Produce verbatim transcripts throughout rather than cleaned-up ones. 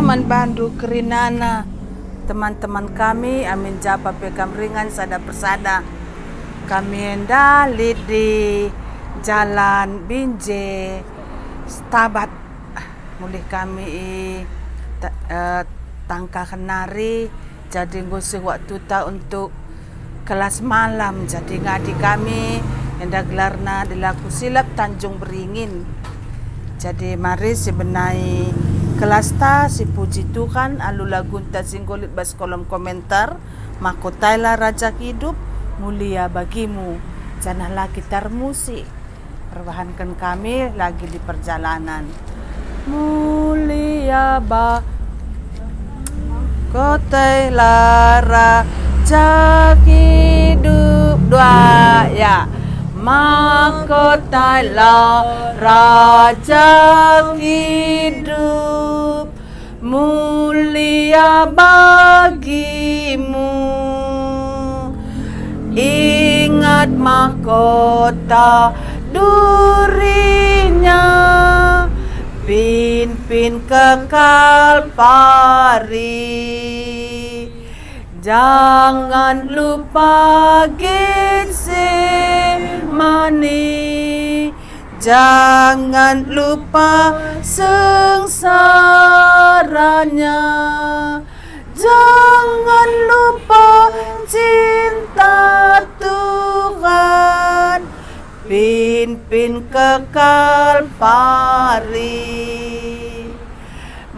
Man bandu kerinana, teman-teman kami, amin japa pe kam ringan sada persada. Kami enda lit di Jalan Binjai, Stabat. Mulih kami i ta-, eh, tangkahen nari, jadi enggo seh waktuta untuk kelas malam, jadi ngadi kami enda gelarna Dilaku Silap Tanjung Beringin. Jadi mari sibenai kelasta sipuji Tuhan alu lagunta si enggo lit bas kolom komentar, Mahkotailah Raja Hidup, Mulia Bagimu, janah la kita ermusik. Perbahanken kami lagi di perjalanan. Mulia ba-, Mahkotailah Raja Hidup. Dua, ya. Mahkotailah Raja Hidup, mulia bagimu. Ingat mahkota durinya, pinpin ke Kalpari. Jangan lupa Getsemani, jangan lupa sengsaranya, jangan lupa cinta Tuhan, pinpin ke Kalpari.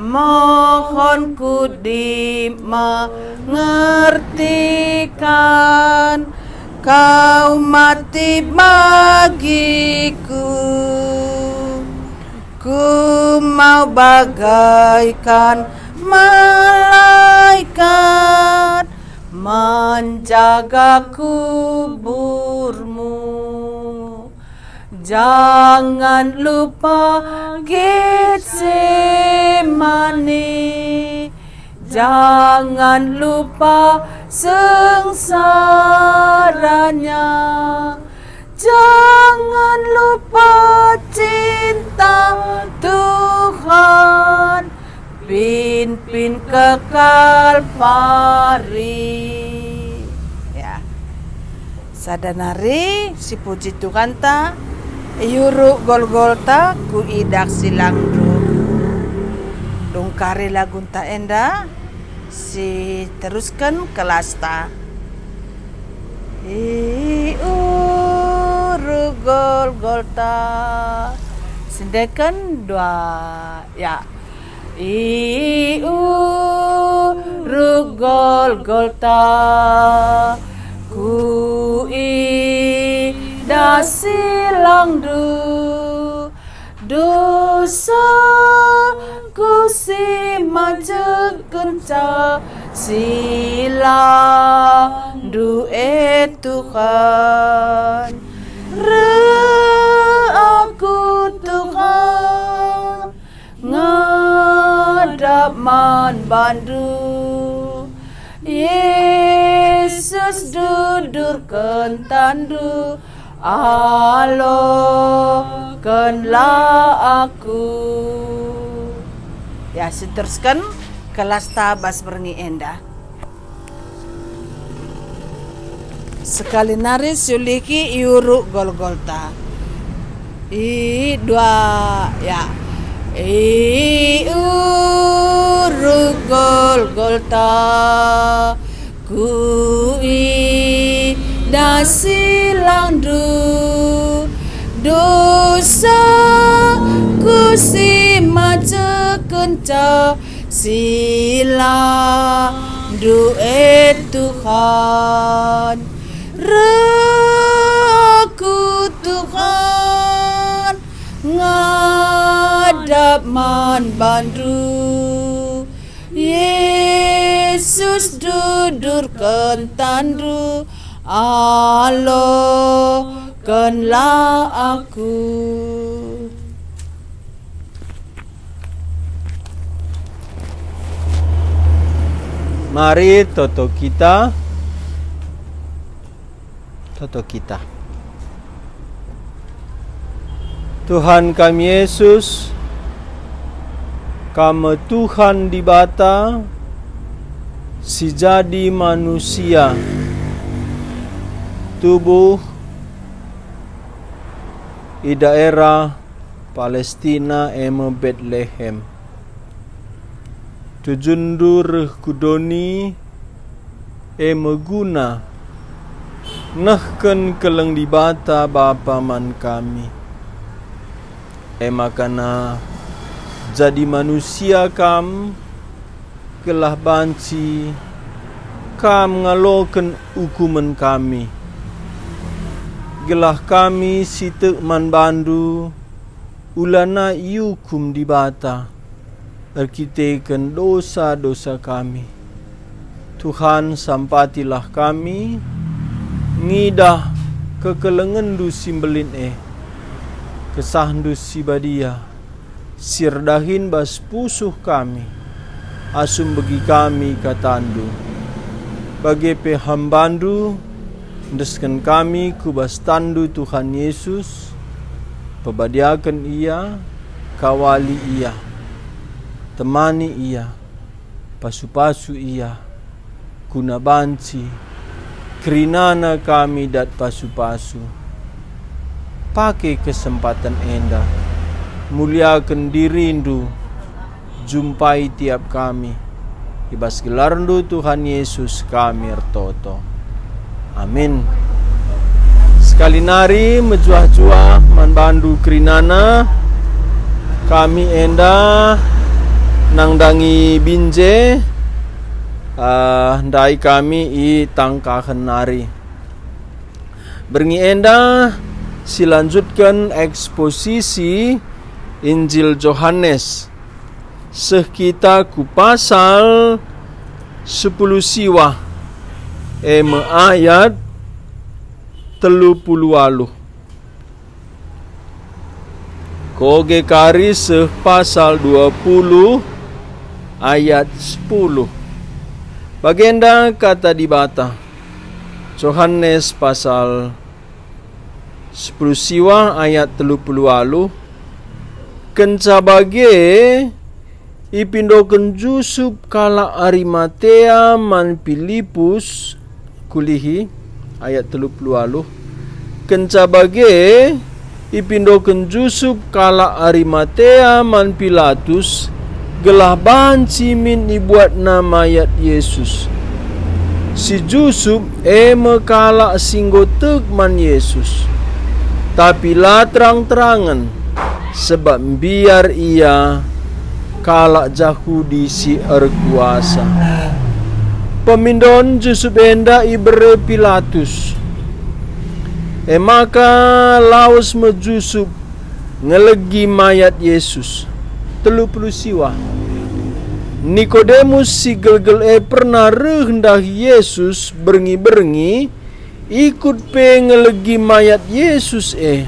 Mohon ku dimengertikan, kau mati bagiku. Ku mau bagaikan malaikat menjaga kuburmu. Jangan lupa Getsemani, jangan lupa sengsaranya, jangan lupa cinta Tuhan, pinpin ke Kalpari. Ya. Sada nari sipuji Tuhanta, i Uruk Golgota kuidah silangndu. Dungkari lagunta enda, siterusken kelasta. I Uruk Golgota. Sendeken dua, ya. I Uruk Golgota, kuidah silangndu, dosaku si majekenca, silangndu, e Tuhan. Reh aku, Tuhan, ngadap man bandu. Yesus, dudurken tanNdu, alokenlah aku. Ya, siterusken kelasta bas berngi enda. Sekali nari siulihki i Uruk Golgota. I dua, ya. I Uruk Golgota, kuidah silangndu, dosaku si majekenca, silangndu, e Tuhan. Reh aku, Tuhan, ngadap man bandu. Yesus, dudurken tanNdu, alokenlah aku. Mari toto kita, toto kita. Tuhan kami Yesus, Kam me Tuhan Dibata si jadi manusia, tubuh i daerah Palestina, e me Betlehem. Tujunndu reh ku doni, e me guna nehken keleng Dibata Bapa man kami. E maka jadi manusia Kam, gelah banci Kam ngaloken ukumen kami, gelah kami si tek man baNdu ulana iukum Dibata erkiteken dosa-dosa kami. Tuhan, sampatilah kami ngidah kekelengenNdu si mbelin e, kesahNdu si badia, si erdahin bas pusuh kami, asum begi kami kataNdu. Bage pe hambaNdu, endesken kami ku bas tanNdu Tuhan Yesus, pebadiaken ia, kawali ia, temani ia, pasu-pasu ia, guna banci kerinana kami dat pasu-pasu. Pake kesempaten enda, muliaken diriNdu, jumpai tiap kami. I bas gelarNdu Tuhan Yesus kami ertoto. Amin. Sekali nari mejuah-juah man bandu kerinana, kami enda nandangi binje, eh, ndai kami i Tangkahen nari. Berngi enda silanjutken eksposisi Injil Johanes. Seh kita ku pasal sepuluh siwah, e me ayat telu puluh waluh. Koge kari seh pasal dua puluh ayat sepuluh. Bagenda kata Dibata, Johanes pasal sepuluh siwah ayat telu puluh waluh, kenca bage ipindoken Jusup kalak Arimatea man Pilipus, kulihi, ayat telu puluh waluh, kenca bage ipindoken Jusup kalak Arimatea man Pilatus, gelah banci min ibuatna mayat Yesus. Si Jusup e me kalak si enggo tek man Yesus, tapi la terang-terangen, sebab mbiar ia kalak Jahudi si erkuasa. Pemindon Jusup enda ibere Pilatus. E maka lawes me Jusup ngelegi mayat Yesus. Telu puluh siwah. Nikodemus si gelgel e pernah reh ndahi Yesus berngi-berngi, ikut pe ngelegi mayat Yesus e.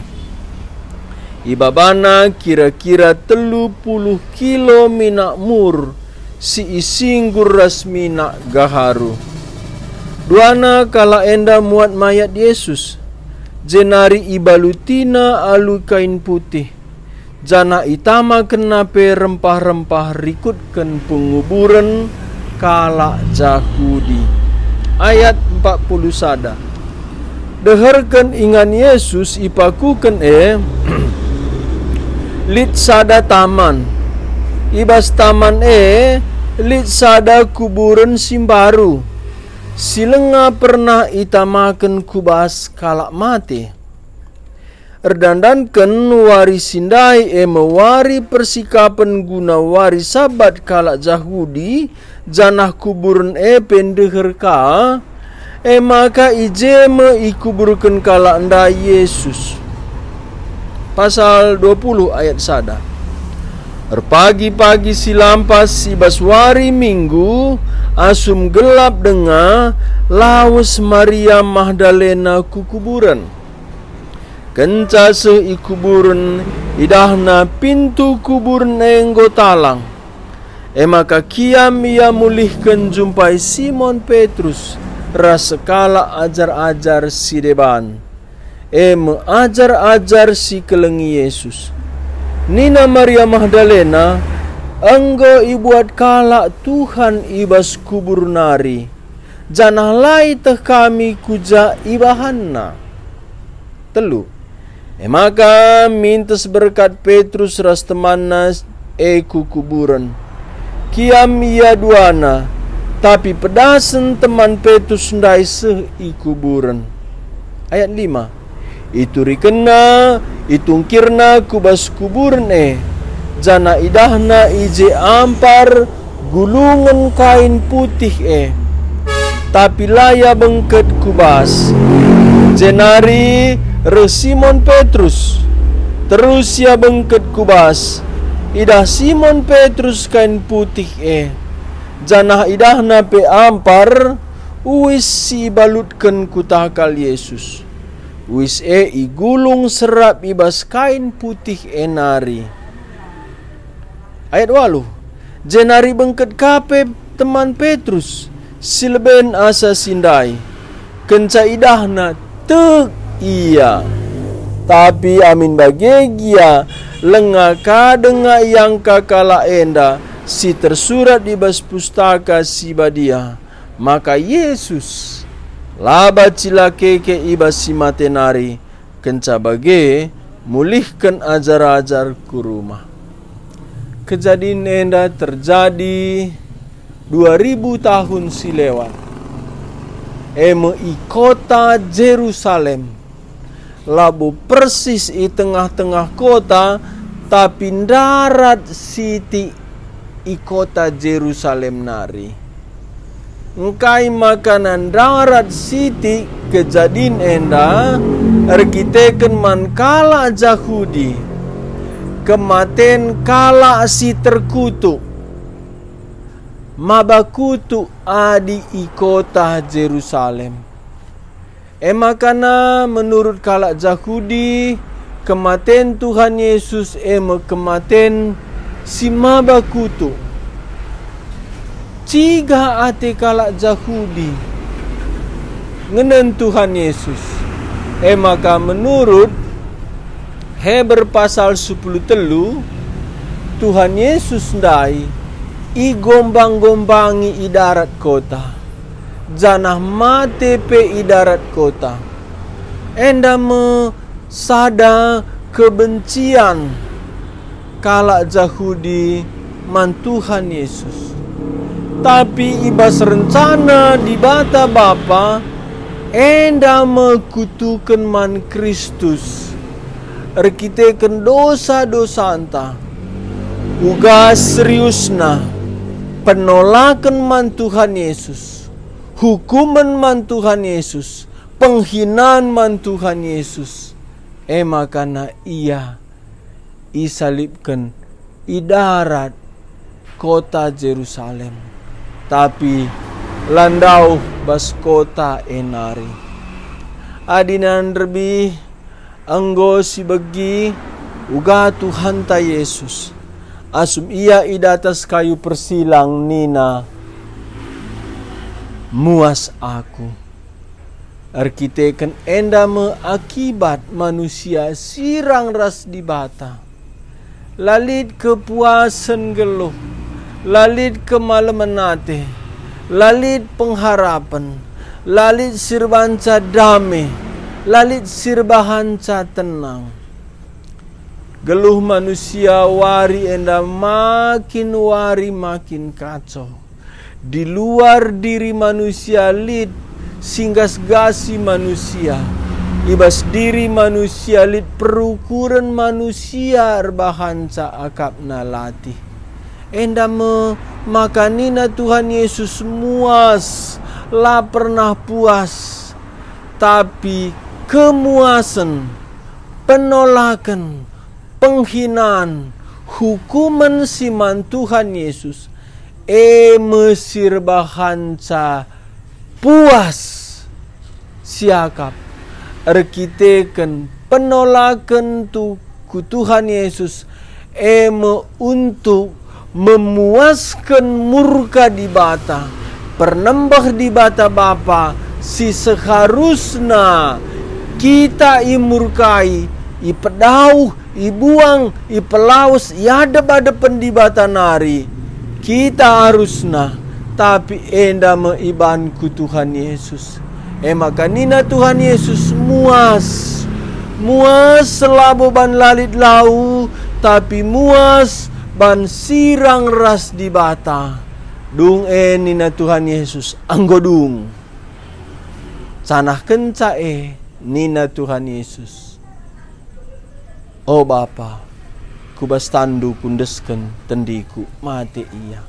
Ibabana kira-kira telu puluh kilo minak mur si isinggur ras minak gaharu. Duana kalak enda muat mayat Yesus, jenari ibalutina alu kain putih, janah itamakenna pe rempah-rempah rikutken penguburen kalak Jahudi. Ayat empat puluh sada. Deherken ingan Yesus ipakuken e, lit sada taman. I bas taman e lit sada kuburen si mbaru, si langa pernah itamaken ku bas kalak mate. Erdandanken wari si ndai e me wari persikapen guna wari Sabat kalak Jahudi, janah kuburen e pe ndeher ka, e maka i je me ikuburken kalak ndai Yesus. Pasal dua puluh ayat sada. Erpagi-pagi si lampas i bas wari Minggu, asum gelap denga, lawes Maria Magdalena ku kuburen. Kenca seh i kuburen, idahna pintu kuburen e enggo talang. E maka kiam ia mulihken njumpai Simon Petrus ras sekalak ajar-ajar si deban, e me ajar-ajar si kelengi Yesus. Nina Maria Magdalena, enggo ibuat kalak Tuhan i bas kubur nari, janah la ieteh kami ku ja ibahanNa. Telu. E maka mintes berkat Petrus ras temanna e ku kuburen. Kiam ia duana, tapi pedasen teman Petrus ndai seh i kuburen. Ayat lima. Iturikenna, itungkirna ku bas kuburen e, janah idahna i je ampar gulungen kain putih e, tapi la ia bengket ku bas. Jenari reh Simon Petrus, terus ia bengket ku bas. Idah Simon Petrus kain putih e, janah idahna pe ampar uis si ibalutken ku takal Jesus. Uis e igulung serap i bas kain putih e nari. Ayat waluh. Jenari bengket ka pe teman Petrus, si leben asa si ndai. Kenca idahna, tek ia. Tapi amin bage gia, langa ka denga iangka kalak enda si tersurat i bas Pustaka Si Badia, maka Jesus la banci la keke i bas si mate nari, kenca bage mulihken ajar-ajar ku rumah. Kejadin enda terjadi dua ribu tahun si lewat, e me i kota Jerusalem, labo persis i tengah-tengah kota, tapi ndarat sitik i kota Jerusalem nari. Engkai maka ndarat sitik kejadin enda erkiteken man kalak Jahudi, kematen kalak si terkutuk, maba kutuk adi i kota Jerusalem. E maka menurut kalak Jahudi, kematen Tuhan Yesus e me kematen si maba kutuk. Ciga ate kalak Jahudi ngenen Tuhan Yesus. E maka menurut Heber pasal sepuluh telu, Tuhan Yesus ndai igombang-gombangi i darat kota, janah mate pe i darat kota. Enda me sada kebencian kalak Jahudi man Tuhan Yesus. Tapi i bas rencana Dibata Bapa, enda me kutuken man Kristus erkiteken dosa-dosanta. Uga seriusna penolaken man Tuhan Yesus, hukumen man Tuhan Yesus, penghinaan man Tuhan Yesus, e maka ia isalibken i darat kota Jerusalem, tapi la ndauh bas kota e nari. Adi nderbih enggo sibegi uga Tuhanta Yesus, asum Ia i datas kayu persilang nina, "Muas Aku." Erkiteken enda me akibat manusia sirang ras Dibata. La lit kepuasen geluh, la lit kemalemen ate, la lit pengharapen, la lit si erbahanca dame, la lit si erbahanca tenang. Geluh manusia wari enda makin wari makin kacau. Di luar diri manusia lit si nggasgasi manusia. I bas diri manusia lit perukuren manusia erbahanca akapna latih. Enda me maka nina Tuhan Yesus, "Muas, la pernah puas, tapi kemuasen, penolaken, penghinaan, hukumen si man Tuhan Yesus, e me si erbahanca puas siakap erkiteken penolaken tu, ku Tuhan Yesus, e me untuk memuasken murka Dibata, pernembeh Dibata Bapa si seharusna kita imurkai, ipedauh, ibuang, ipelawes i adep-adepen Dibata nari, kita arusna, tapi enda me ibanku Tuhan Yesus. E maka nina Tuhan Yesus, "Muas, muas labo ban la lit lau, tapi muas ban sirang ras Dibata." Dung e nina Tuhan Yesus, "Enggo dung." Janah kenca e nina Tuhan Yesus, "O Bapa, ku bas tanNdu Kuendesken tendiKu." Mate Ia.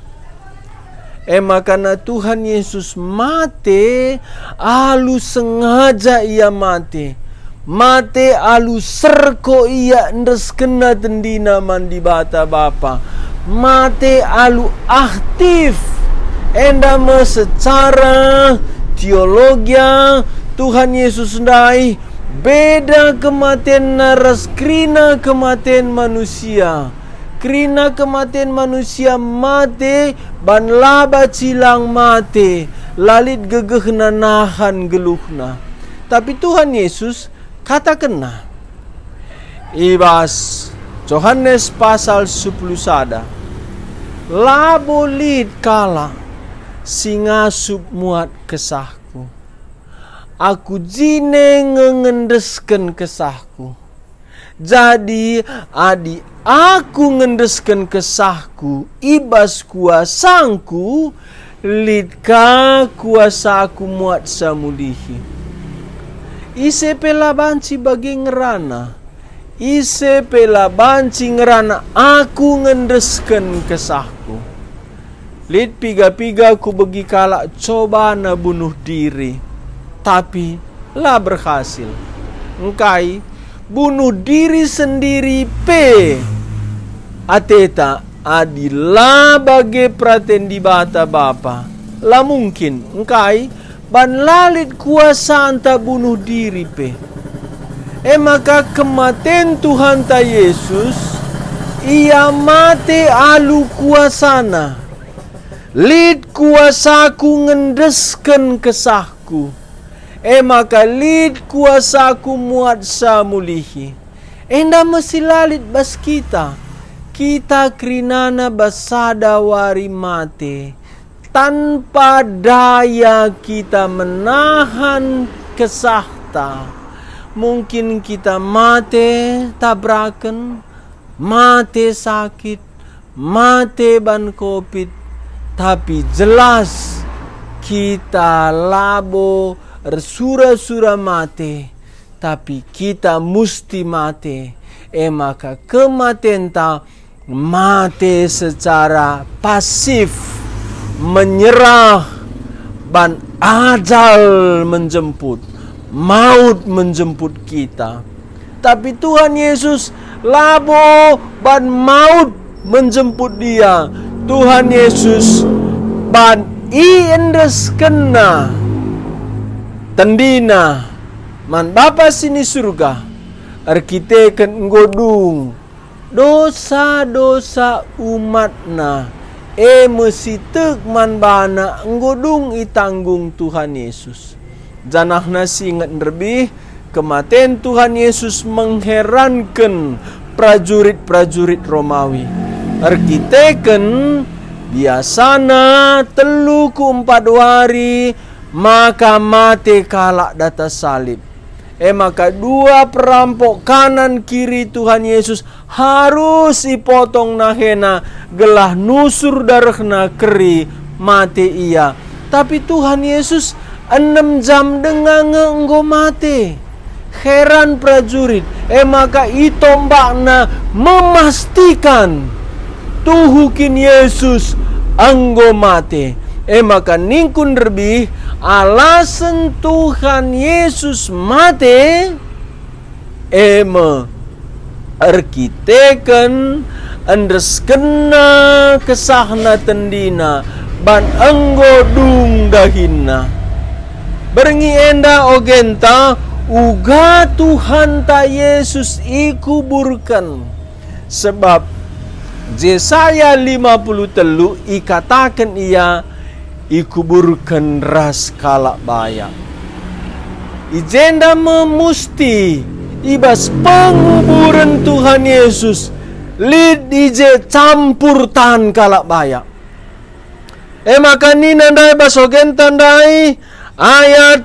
E maka na Tuhan Yesus mate, alu sengaja Ia mate. Mate alu serko Ia endeskenna tendiNa man Dibata Bapa. Mate alu aktif. Enda me secara teologia Tuhan Yesus ndai beda kematenNa ras kerina kematen manusia. Kerina kematen manusia mate ban la banci lang mate, la lit gegehna nahan geluhna. Tapi Tuhan Yesus katakenNa i bas Johanes pasal sepuluh sada, "Labo lit kalak si ngasup muat kesahKu. Aku jine nge ngendesken kesahKu. Jadi, adi Aku ngendesken kesahKu i bas kuasangKu, lit ka kuasaKu muatsa mulihi. Ise pe la banci bage ngerana, ise pe la banci ngerana Aku ngendesken kesahKu." Lit piga-piga kubegi kalak cobana bunuh diri, tapi la berhasil. Engkai, bunuh diri sendiri pe ateta adi la bage peraten Dibata Bapa, la mungkin. Engkai, ban la lit kuasanta bunuh diri pe. E maka kematen Tuhanta Yesus, Ia mate alu kuasaNa. "Lit kuasaKu ngendesken kesahKu, e maka lit kuasaKu muatsa mulihi." Enda me si la lit bas kita. Kita kerinana bas sada wari mate. Tanpa daya kita menahan kesahta. Mungkin kita mate tabraken, mate sakit, mate ban covid, tapi jelas kita labo ersura-sura mate, tapi kita musti mate. E maka kematenta mate secara pasif, menyerah, ban ajal menjemput, maut menjemput kita. Tapi Tuhan Yesus labo ban maut menjemput Ia. Tuhan Yesus ban iendeskenNa tendiNa man Bapa si ni Surga erkiteken enggo dung dosa-dosa umatNa, e me si tek man baNa enggo dung itanggung Tuhan Yesus. Janahna si inget nderbih, kematen Tuhan Yesus mengheranken prajurit-prajurit Romawi. Erkiteken biasana telu ku empat wari maka mate kalak datas salib. E maka dua perampok kanan kiri Tuhan Yesus harus ipotong nahena gelah nusur darehna keri mate ia. Tapi Tuhan Yesus enem jam denga nge enggo mate. Heran prajurit, e maka itombakna memastikan tuhu kin Yesus enggo mate. E maka ningkun nderbih, alasen Tuhan Yesus mate, e me erkiteken endeskenna kesahna tendina ban enggo dung dahinna. Berngi enda ogenta uga Tuhanta Yesus ikuburken. Sebab Jesaya lima puluh telu ikataken ia ikuburken ras kalak bayak. I jenda me musti i bas penguburen Tuhan Yesus, lit i je campur tan kalak bayak. E maka nina ndai bas ogenta ndai, ayat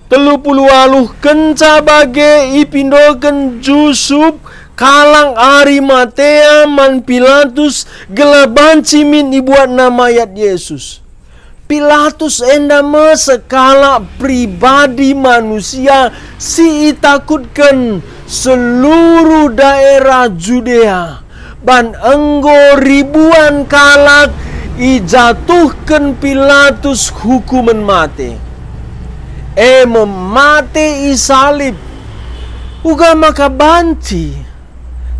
telu puluh waluh, kenca bage ipindoken Jusup kalak Arimatea man Pilatus gelah banci min ibuatna mayat Yesus. Pilatus enda me sekalak pribadi manusia si itakutken seluruh daerah Judea. Ban enggo ribuan kalak ijatuhken Pilatus hukumen mate, e me mate i salib, uga maka banci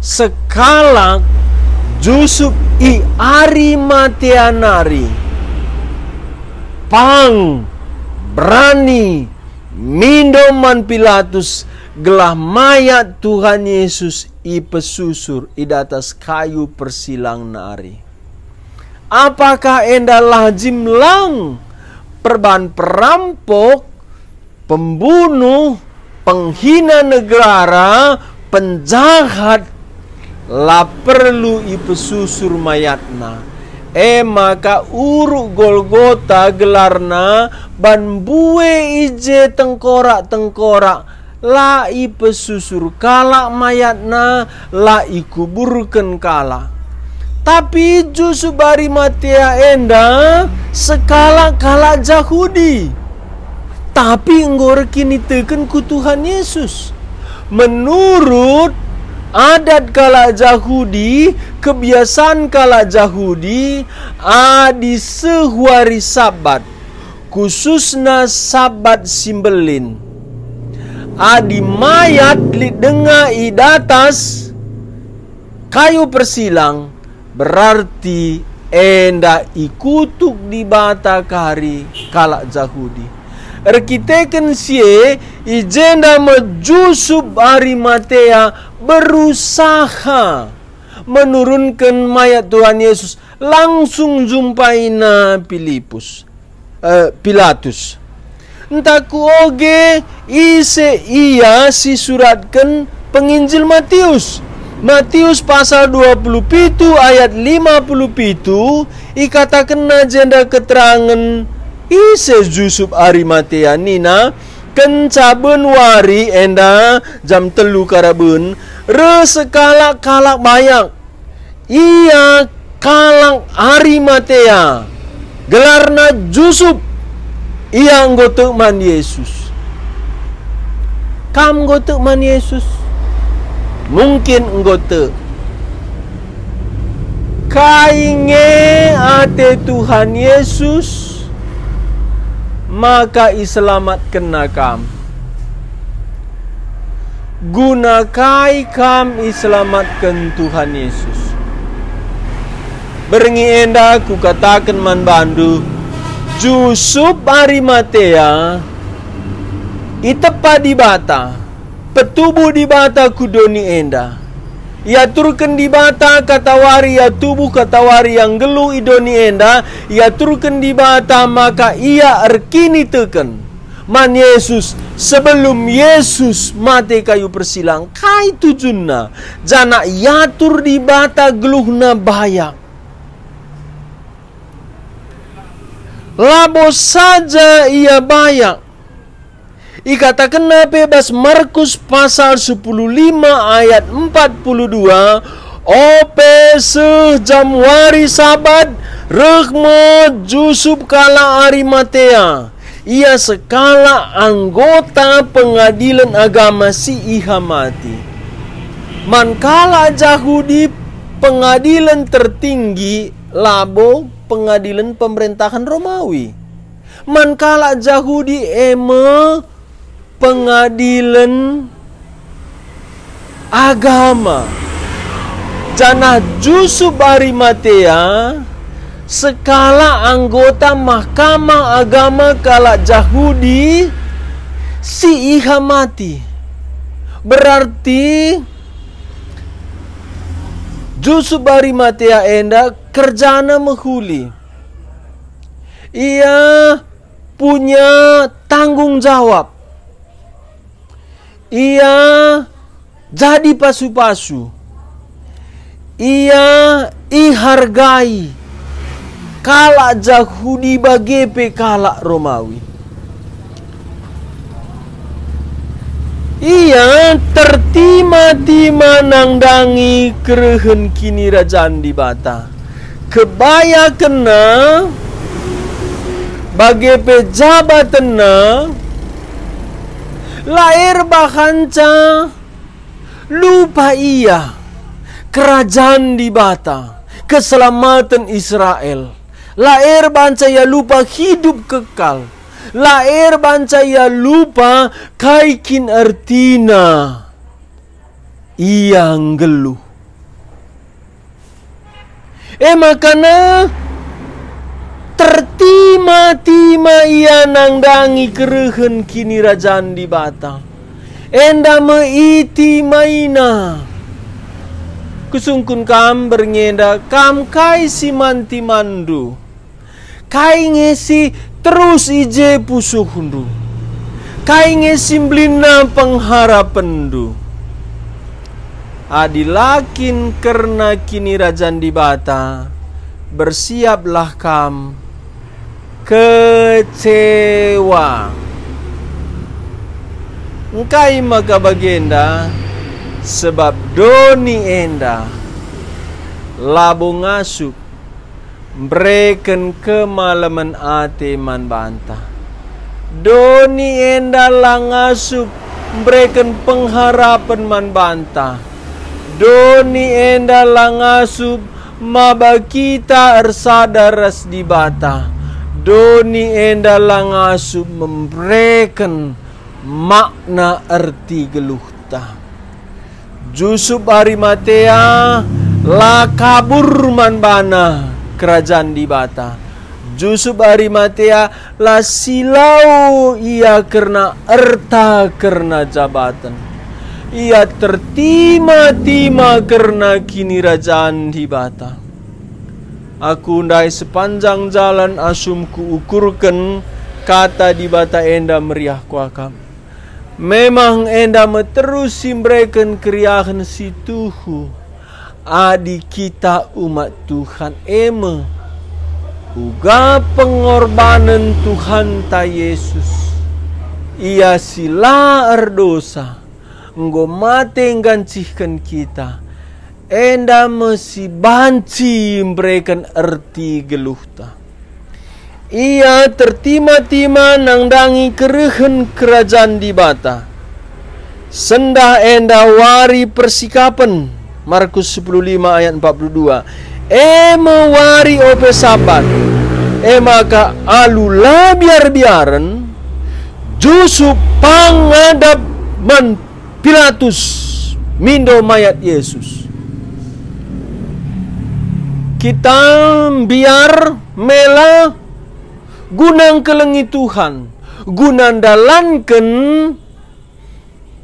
sekalak Jusup i Arimatea nari pang berani mindo man Pilatus gelah mayat Tuhan Yesus ipesusur i datas kayu persilang nari. Apakah enda lajim lang? Perban perampok, pembunuh, penghina negara, penjahat, la perlu ipesusur mayatna. E maka uruk Golgota gelarna, ban mbue i je tengkorak-tengkorak, la ipesusur kalak mayatna, la ikuburken kalak. Tapi Jusup Arimatea enda sekalak kalak Jahudi, tapi enggo erkiniteken ku Tuhan Yesus. Menurut adat kalak Jahudi, kebiasaan kalak Jahudi, adi seh wari Sabat, khususna Sabat si Mbelin, adi mayat lit denga i datas kayu persilang, berarti enda ikutuk Dibata kari kalak Jahudi. Erkiteken si e, i jenda me Jusup Arimatea berusaha menurunken mayat Tuhan Yesus, langsung njumpaina Pilipus, eh, Pilatus. Ntah kuoge ise ia si suratken penginjil Matius. Matius pasal dua puluh pitu ayat lima puluh pitu, ikatakenna jenda keterangen ise Jusup Arimatea nina, kenca ben wari enda jam telu karaben, reh sekalak kalak bayak. Ia kalak Arimatea, gelarna Jusup. Ia enggo tek man Yesus. Kam enggo tek man Yesus? Mungkin enggo tek. Kai nge ate Tuhan Yesus maka iselamatkenNa kam? Guna kai kam iselamatken Tuhan Yesus? Berngi enda kukataken man bandu, Jusup Arimatea itepa Dibata, petubuh Dibata ku doni enda. Iaturken Dibata katawari ia tubuh, katawari ia nggeluh i doni enda, iaturken Dibata maka ia erkiniteken man Yesus, sebelum Yesus mate kayu persilang. Kai tujunna? Janah iatur Dibata geluhna bayak. Labo saja ia bayak. Ikatakenna pe bas Markus pasal sepuluh lima ayat empat puluh dua, ope seh jam wari Sabat, reh me Jusup kalak Arimatea. Ia sekalak anggota pengadilen agama si ihamati. Man kalak Jahudi, pengadilen tertinggi labo pengadilen pemerintahan Romawi. Man kalak Jahudi e me pengadilen agama. Janah Jusup Arimatea sekalak anggota Mahkamah Agama kalak Jahudi si ihamati. Berarti Jusup Arimatea enda kerjana mehuli. Ia punya tanggung jawab. Ia jadi pasu-pasu. Ia ihargai kalak Jahudi bage pe kalak Romawi. Ia tertima-tima nandangi kerehen Kinirajan Dibata. Kebayakenna bage pe jabatenna la erbahanca lupa ia Kerajan Dibata, keselamaten Israel. La erbahanca ia lupa hidup kekal. La erbahanca ia lupa kai kin ertina ia nggeluh. E makana tertima-tima ia nandangi kerehen Kinirajan Dibata. Enda me itimaina. Kusungkun kam berngi enda, kam kai si man timanndu? Kai nge si terus i je pusuhndu? Kai nge si mbelinna pengharapenndu? Adi la kin kerna Kinirajan Dibata, bersiaplah kam kecewa. Engkai maka bagenda? Sebab doni enda labo ngasup mbereken kemalemen ate man banta. Doni enda la ngasup mbereken pengharapen man banta. Doni enda la ngasup maba kita ersada ras Dibata. Doni enda la ngasup mbereken makna erti geluhta. Jusup Arimatea la kabur man bana Kerajan Dibata. Jusup Arimatea la silau ia kerna erta, kerna jabaten. Ia tertima-tima kerna Kinirajan Dibata. Aku ndai sepanjang jalan asum kuukurken Kata Dibata enda meriah kuakap. Memang enda me terus si mbereken keriahen si tuhu. Adi kita umat Tuhan e me uga pengorbanen Tuhanta Yesus, Ia si la erdosa, enggo mate nggancihken kita, enda me si banci mbereken erti geluhta. Ia tertima-tima nandangi kerehen Kerajan Dibata. Sendah enda wari persikapen, Markus sepuluh lima ayat empat puluh dua, e me wari ope Sabat. E maka alu la biar-biaren, Jusup pangadap man Pilatus mindo mayat Yesus. Kita mbiar mela guna ngkelengi Tuhan, guna ndalanken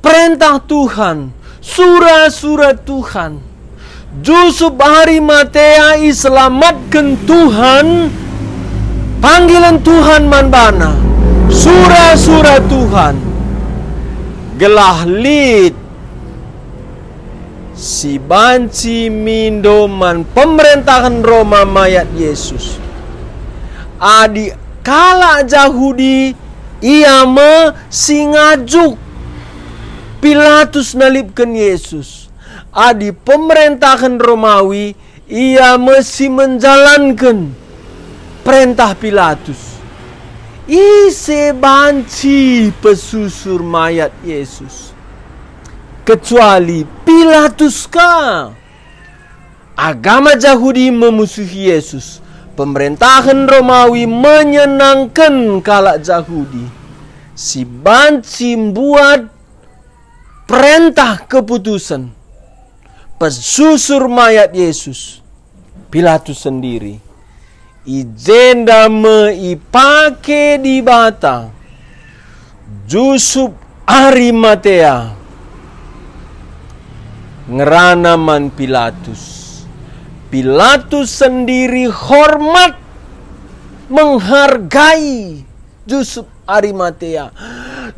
perentah Tuhan, sura-sura Tuhan. Jusup Arimatea iselamatken Tuhan, panggilen Tuhan man bana, sura-sura Tuhan, gelah lit si banci mindo man pemerentahen Roma mayat Yesus. Adi kalak Jahudi, ia me si ngajuk Pilatus nalipken Yesus. Adi pemerentahen Romawi, ia me si menjalanken perentah Pilatus. Ise banci pesusur mayat Yesus, kecuali Pilatus ka? Agama Jahudi memusuhi Yesus. Pemerentahen Romawi menyenangken kalak Jahudi si banci mbuat perentah keputusen pesusur mayat Yesus. Pilatus sendiri. I jenda me ipake Dibata Jusup Arimatea ngerana man Pilatus. Pilatus sendiri hormat, menghargai Jusup Arimatea.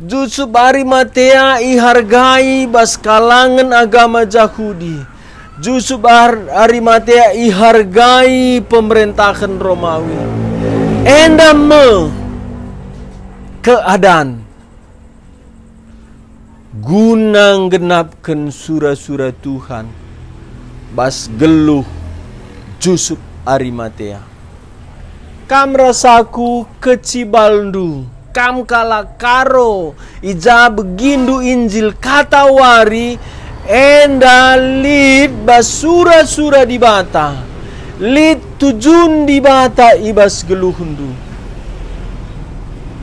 Jusup Arimatea ihargai bas kalangen agama Jahudi. Jusup Ar-, Arimatea ihargai pemerentahen Romawi. Enda me keadan guna nggenapken sura-sura Tuhan bas geluh Jusup Arimatea. Kam ras aku kecibalndu, kam kalak Karo, i ja begindu Injil katawari, enda lit bas sura-sura Dibata, lit tujun Dibata i bas geluhndu.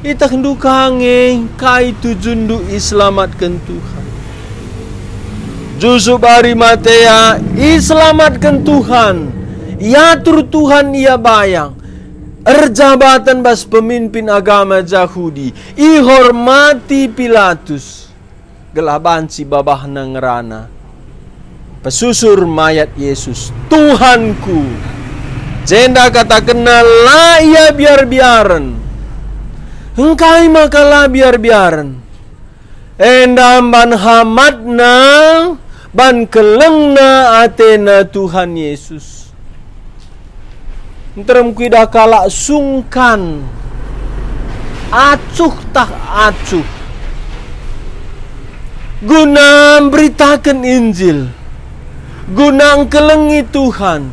Ietehndu ka nge kai tujunndu iselamatken Tuhan. Jusup Arimatea iselamatken Tuhan, iatur Tuhan ia bayang, erjabaten bas pemimpin agama Jahudi, ihormati Pilatus, gelah banci babahna ngerana. Pesusur mayat Yesus, "Tuhanku." Jenda katakenna la ia biar-biaren. Engkai maka la biar-biaren? Enda mban hamatna, mban kelengna atena Tuhan Yesus. Nterem kuidah kalak sungkan, acuh tah acuh, guna mberitaken Injil, guna engkelengi Tuhan,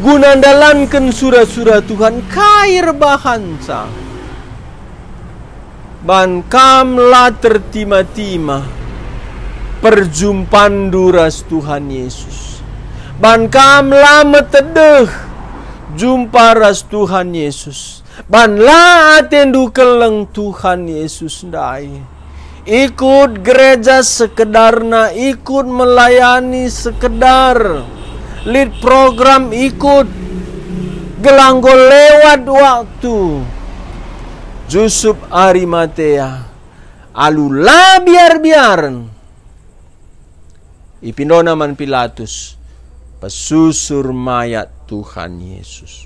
guna ndalanken sura-sura Tuhan. Kai erbahanca? Ban kam la tertima-tima perjumpanndu ras Tuhan Yesus. Ban kam la metedeh jumpa ras Tuhan Yesus. Ban la atendu keleng Tuhan Yesus ndai. Ikut gereja sekedarna, ikut melayani sekedar. Lit program ikut, gelah enggo lewat waktu. Jusup Arimatea, alu la biar-biaren, ipindona man Pilatus pesusur mayat Tuhan Yesus.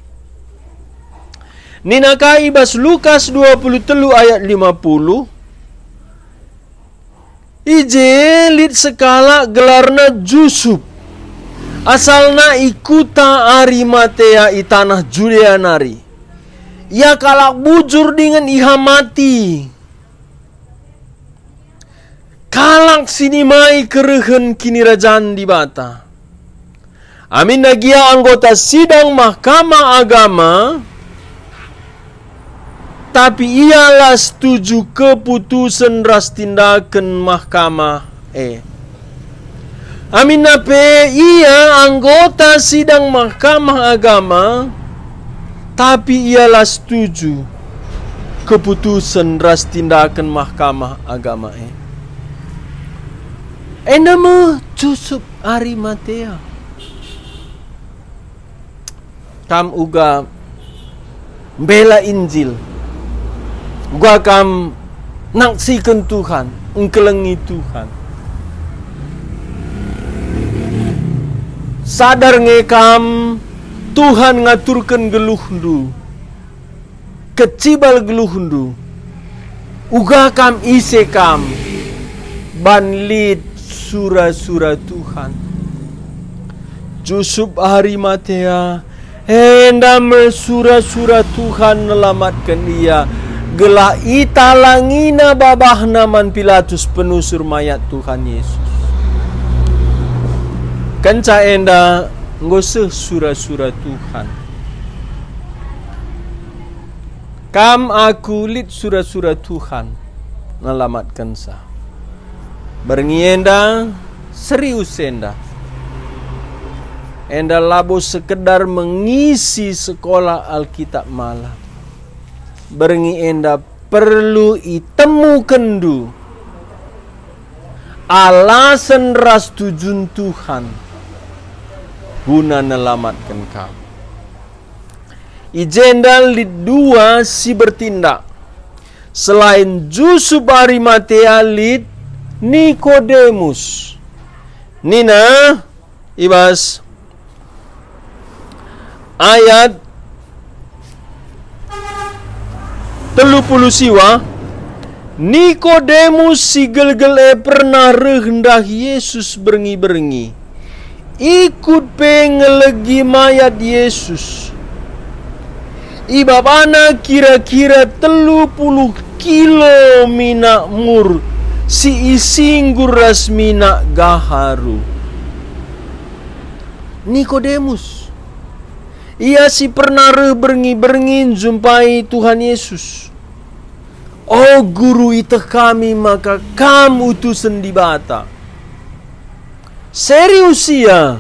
Nina ka i bas Lukas dua puluh telu ayat lima puluh, i je lit sekalak gelarna Jusup, asalna i kuta Arimatea i taneh Judea nari. Ia kalak bujur dingen ihamati. Kalak si nimai kerehen Kinirajan Dibata. Aminna gia anggota sidang Mahkamah Agama, tapi ia la setuju keputusen ras tindaken mahkamah e. Aminna pe ia anggota sidang Mahkamah Agama, tapi ia la setuju keputusen ras tindaken Mahkamah Agama e. Enda me Jusup Arimatea. Kam uga mbela Injil, uga kam naksiken Tuhan, engkelengi Tuhan. Sadar nge kam Tuhan ngaturken geluhndu, kecibal geluhndu, uga kam ise kam, ban lit sura-sura Tuhan. Jusup Arimatea, enda me sura-sura Tuhan nelamatken ia, gelah italangina babahna man Pilatus penusur mayat Tuhan Yesus. Kenca enda enggo seh sura-sura Tuhan. Kam aku lit sura-sura Tuhan nelamatkenca. Berngi enda serius enda. Enda labo sekedar mengisi sekolah Alkitab malam. Berngi enda perlu itemukenndu alasen ras tujun Tuhan guna nelamatken kam. I jenda lit dua si bertindak. Selain Jusup Arimatea lit Nikodemus. Nina i bas ayat telu puluh siwa, Nikodemus si gelgel e pernah reh ndahi Jesus berngi-berngi. Ikut pe ngelegi mayat Jesus. Ibabana kira-kira telu puluh kilo minak mur si isinggur ras minak gaharu. Nikodemus, ia si pernah reh berngi-berngi njumpai Tuhan Yesus. "O Guru, ieteh kami maka Kam utusen Dibata." Serius ia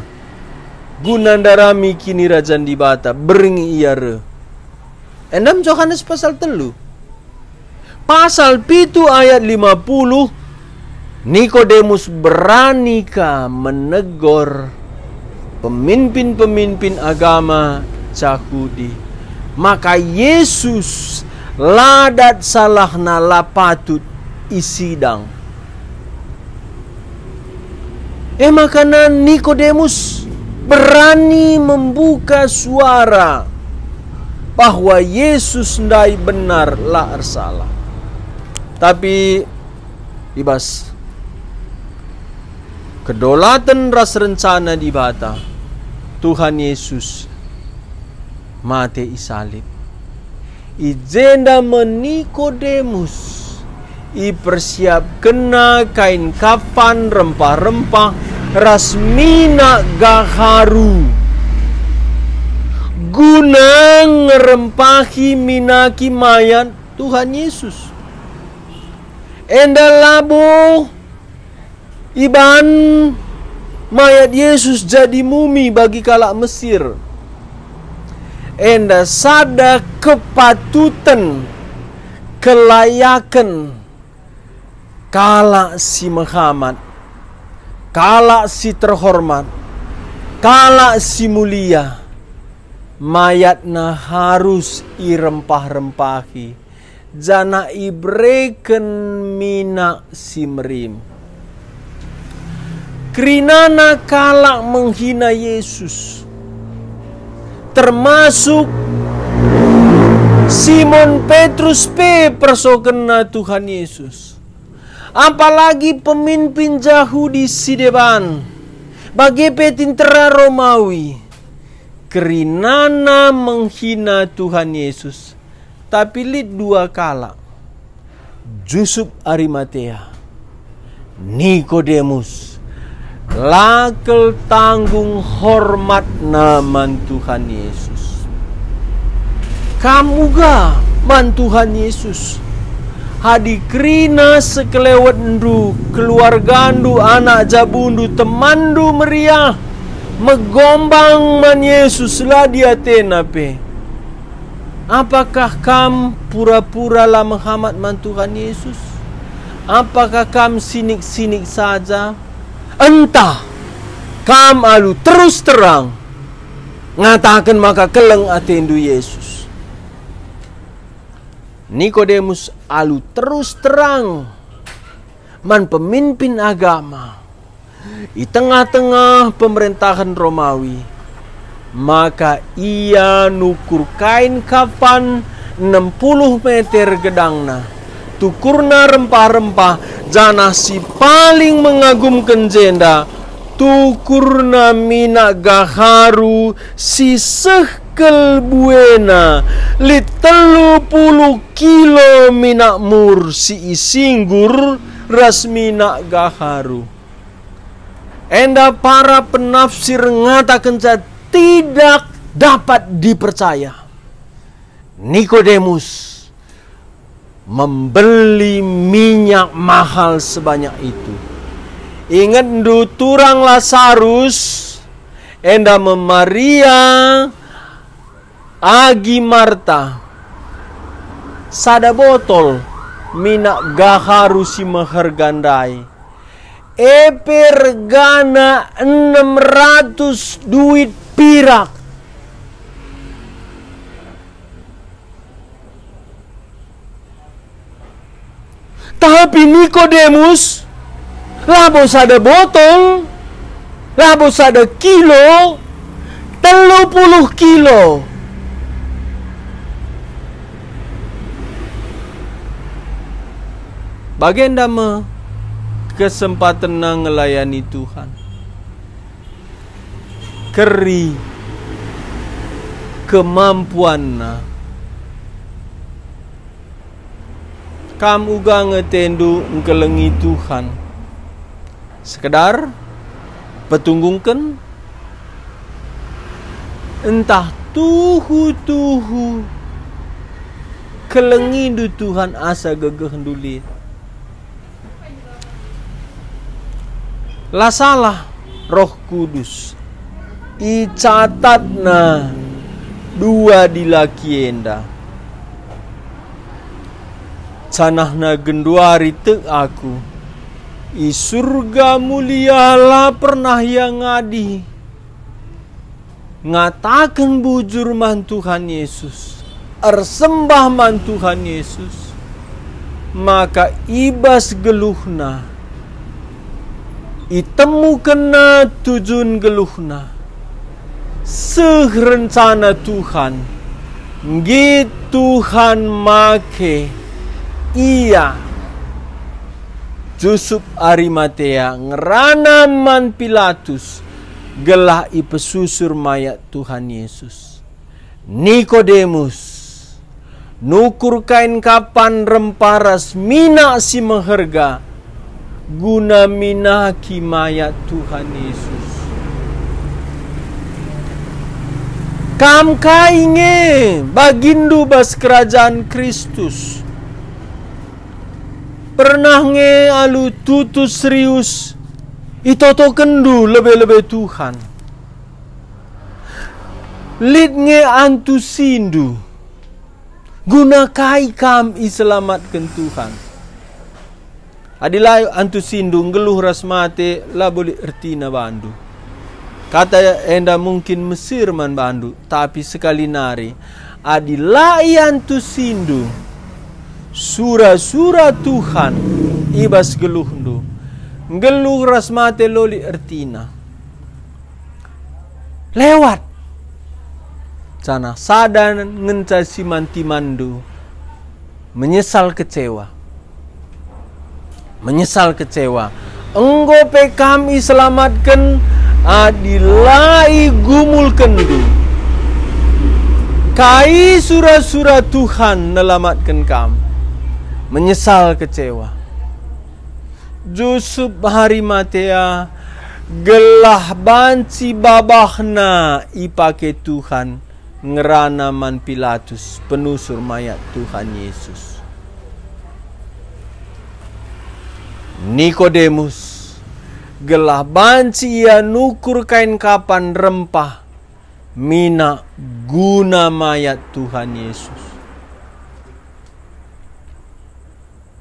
guna ndarami Kinirajan Dibata, berngi ia reh. Endam Johanes pasal telu. Pasal pitu ayat lima puluh, Nikodemus berani ka menegor pemimpin-pemimpin agama Jahudi. Maka Jesus la dat salahna, la patut isidang. E maka Nikodemus berani membuka suara bahwa Yesus ndai benar, la ersalah. Tapi i bas kedolaten ras rencana Dibata, Tuhan Yesus mate i salib. I jenda me Nikodemus ipersiapkenna kain kafan rempah-rempah ras minak gaharu guna ngerempahi minaki mayat Tuhan Yesus. Enda labo iban mayat Yesus jadi mumi bagi kalak Mesir. Enda sada kepatuten, kelayaken kalak si mehamat, kalak si terhormat, kalak si mulia, mayatna harus irempah-rempahi, janah ibereken minak si merim. Kerinana kalak menghina Yesus, termasuk Simon Petrus pe persokenna Tuhan Yesus. Apalagi pemimpin Jahudi si deban, bage pe tentera Romawi, kerinana menghina Tuhan Yesus. Tapi lit dua kalak, Jusup Arimatea, Nikodemus, la kal tanggung hormatna man Tuhan Yesus. Kam uga man Tuhan Yesus. Adi kerina sekelewetndu, keluargandu, anak jabundu, temanndu meriah, megombang man Yesus, la diatena pe. Apakah kam pura-pura la mehamat man Tuhan Yesus? Apakah kam sinik-sinik saja? Ntah kam alu terus terang ngataken maka keleng atendu Yesus. Nikodemus alu terus terang man pemimpin agama i tengah-tengah pemerentahen Romawi, maka ia nukur kain kafan enem puluh meter gedangna, tukurna rempah-rempah, janah si paling mengagumken jenda, tukurna minak gaharu si seh kal buena, lit telu puluh kilo minak mur si isinggur ras minak gaharu. Enda para penafsir ngatakenca tidak dapat dipercaya. Nikodemus membeli minyak mahal sebanyak itu. Ingetndu turang Lasarus, enda me Maria agi Marta, sada botol minak gaharu si meherga ndai. E pe regana enem ratus duit pirak. Tapi Nikodemus, labo sada botol, labo sada kilo, telu puluh kilo. Bagenda me kesempatenna ngelayani Tuhan. Keri kemampuanna. Kam uga nge atendu ngkelengi Tuhan. Sekedar petunggungken, ntah tuhu-tuhu kelengindu Tuhan asa gegehndu lit. La salah, Roh Kudus icatatna dua dilaki enda. Janahna genduari tek aku, i Surga mulia la pernah ia ngadi. Ngataken bujur man Tuhan Yesus, ersembah man Tuhan Yesus, maka i bas geluhna itemukenna tujun geluhna, seh rencana Tuhan, nggit Tuhan make ia, Jusup Arimatea, ngerana man Pilatus, gelah ipesusur mayat Tuhan Yesus. Nikodemus nukur kain kapan rempah ras minak si meherga guna minaki mayat Tuhan Yesus. Kam kai nge baginndu bas kerajan Kristus? Pernah nge alu tutus serius itotokenndu lebe-lebe Tuhan? Lit nge antusindu? Guna kai kam iselamatken Tuhan? Adi la antusindu, nggeluh ras mate labo lit ertina bandu. Kata enda mungkin mesir man bandu, tapi sekali nari, adi la iantusindu sura-sura Tuhan i bas geluhndu, nggeluh ras mate la lit ertina. Lewat. Janah sada ngenca si man timanndu, menyesal kecewa. Menyesal kecewa. Enggo pe kam iselamatken adi la igumulkenndu kai sura-sura Tuhan nelamatken kam. Menyesal kecewa. Jusup Arimatea, gelah banci babahna ipake Tuhan ngerana man Pilatus penusur mayat Tuhan Yesus. Nikodemus, gelah banci ia nukur kain kapan rempah minak guna mayat Tuhan Yesus.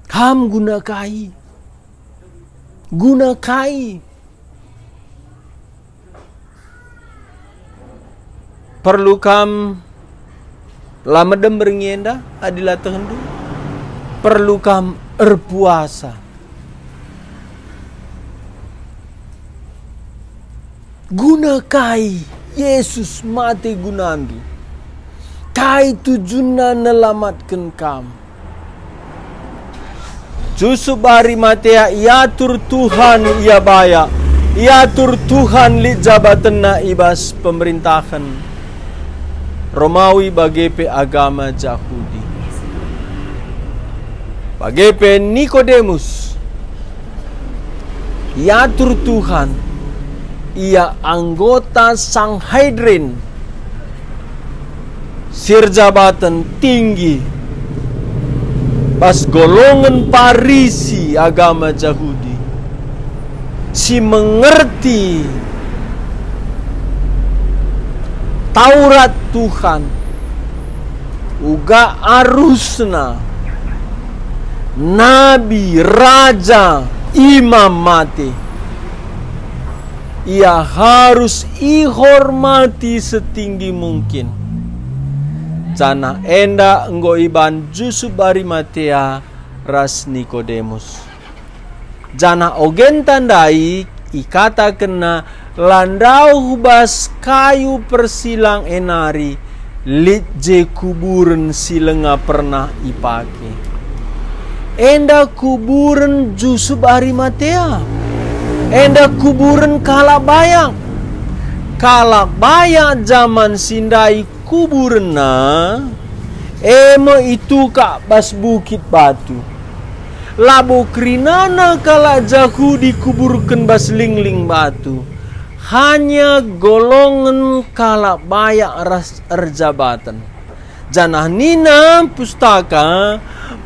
Kam guna kai? Guna kai? Perlu kam la medem berngi enda adi la tehenndu? Perlu kam erpuasa? Guna kai Yesus mate gunandu? Kai tujunna nelamatken kam? Jusup Arimatea iatur Tuhan ia bayak, iatur Tuhan lit jabatenna i bas pemerintahen Romawi bage pe agama Jahudi. Bage pe Nikodemus iatur Tuhan, ia anggota Sanhedrin, si erjabaten tinggi bas golongen Parisi agama Jahudi, si mengerti Taurat Tuhan, uga arusna nabi, raja, imam mate. Ia harus ihormati setinggi mungkin. Janah enda enggo iban Jusup Arimatea ras Nikodemus. Janah ogenta ndai ikatakenna la ndauh bas kayu persilang e nari lit je kuburen si langa pernah ipake. Enda kuburen Jusup Arimatea. Enda kuburen kalak bayak. Kalak bayak jaman si ndai kuburenna, e me itukak bas bukit batu. Labo kerinana kalak Jahudi kuburken bas lingling batu, hanya golongen kalak bayak ras erjabaten. Janah nina Pustaka,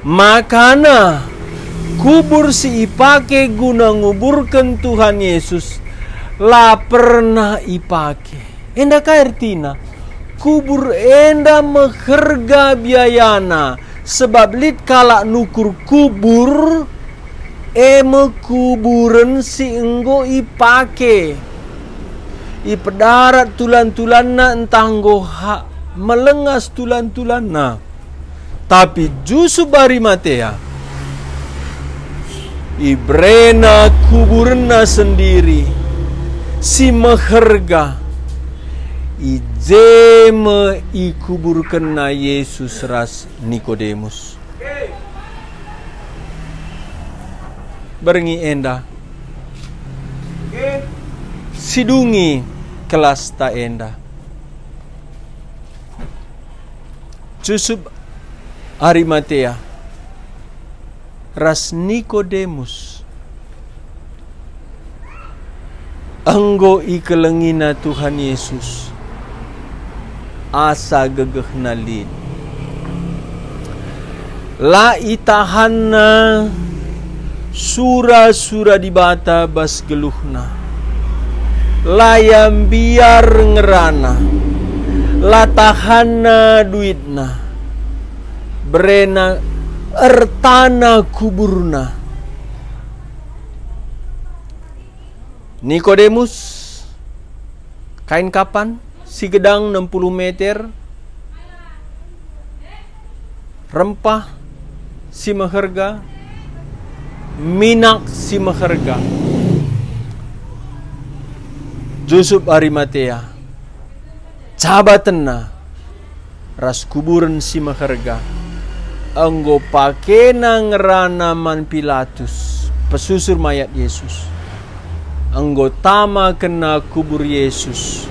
makana kubur si ipake guna nguburken Tuhan Yesus la pernah ipake. Enda kai ertina? Kubur enda meherga biayana, sebab lit kalak nukur kubur, e me kuburen si enggo ipake. Ipedarat tulan-tulanna ntah enggo ha-, melengas tulan-tulanna. Tapi Jusup Arimatea, iberena kuburenna sendiri si meherga. I je me ikuburkenna Yesus ras Nikodemus. Berngi enda, sidungi kelasta enda. Jusup Arimatea ras Nikodemus enggo ikelengina Tuhan Yesus asa gegehna lit. La itahanna sura-sura Dibata bas geluhna. La ia mbiar ngerana, la tahanna duitna, berena ertana kuburna. Nikodemus, kain kapan si gedang enam puluh meter, rempah si meherga, minak si meherga. Jusup Arimatea, jabatenna ras kuburen si meherga, enggo pakena ngerana man Pilatus, pesusur mayat Yesus. Enggo tamakenna kubur Yesus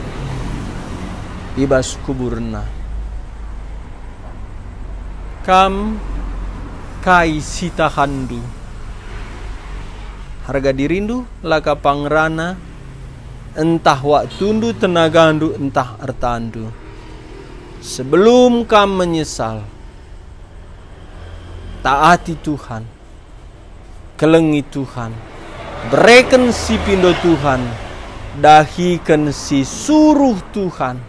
i bas kuburenna. Kam, kai si tahanndu? Harga dirindu la ka pangerana, ntah waktundu, tenagandu, ntah ertandu. Sebelum kam menyesal, taati Tuhan, kelengi Tuhan, bereken si pindo Tuhan, dahiken si suruh Tuhan,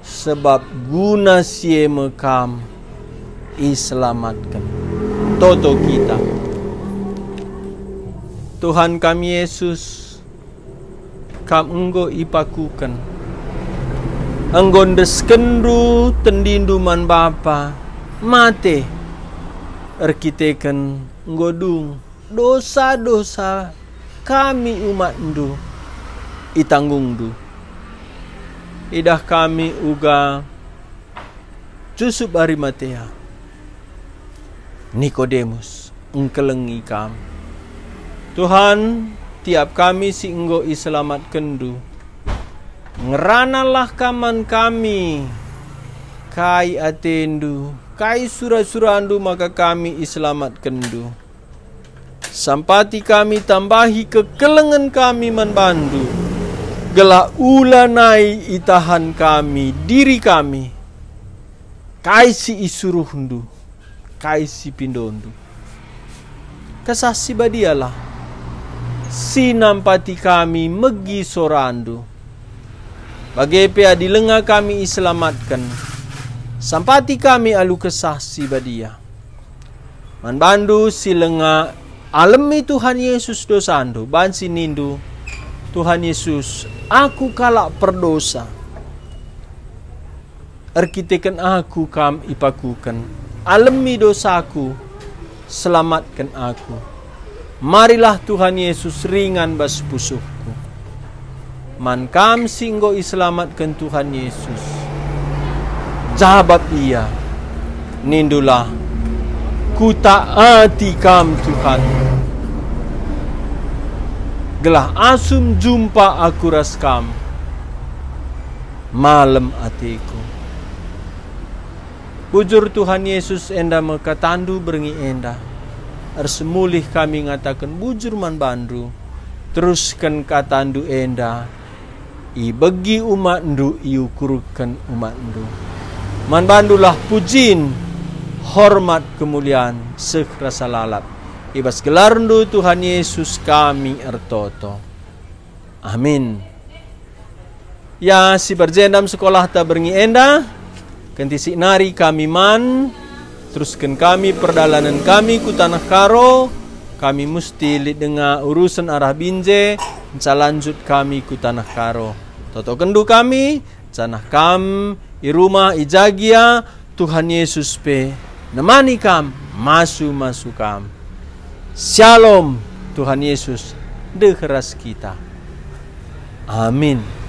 sebab guna si e me kam iselamatken. Toto kita. Tuhan kami Yesus, Kam enggo ipakuken. Enggo endeskenndu tendindu man Bapa, mate, erkiteken enggo dung dosa-dosa kami umatndu itanggungndu. Idah kami uga Jusup Arimatea, Nikodemus, engkelengi Kam. Tuhan, tiap kami si enggo iselamatkenNdu, ngeranalah Kam man kami. Kai ateNdu, kai sura-suraNdu maka kami iselamatkenNdu. Sampati kami, tambahi kekelengen kami man bandu, gelah ulanai itahan kami diri kami, kai si isuruhndu, kai si pindondu. Kesah Si Badialah si nampati kami megi sorandu. Bage pe adi langa kami iselamatken, sampati kami alu Kesah Si Badia. Man bandu si langa, alemi Tuhan Yesus dosandu, banci nindu, "Tuhan Yesus, aku kalak perdosa." Erkiteken aku Kam ipakuken, alemi dosaku, selamatken aku. Marilah Tuhan Yesus ringan bas pusuhku. Man kam si enggo iselamatken Tuhan Yesus, jabap Ia, nindulah, Kutaati Kam, Tuhan, gelah asum jumpa aku ras Kam, malem ateku. Bujur Tuhan Yesus, enda me kataNdu berngi enda. Ersemulih kami ngataken bujur man baNdu. Terusken kataNdu enda, ibegi umatNdu, iukurken umatNdu. Man baNdulah pujin, hormat, kemulian, seh rasa lalap. I bas gelarNdu Tuhan Yesus kami ertoto. Amin. Ya, si perjendam sekolahta berngi enda, kentisik nari kami man, terusken kami perdalanen kami ku Taneh Karo, kami musti lit denga urusen arah Binjai, enca lanjut kami ku Taneh Karo. Totokenndu kami, janah kam i rumah, i ja gia, Tuhan Yesus pe nemani kam, masu-masu kam. Syalom, Tuhan Yesus ndeh ras kita. Amin.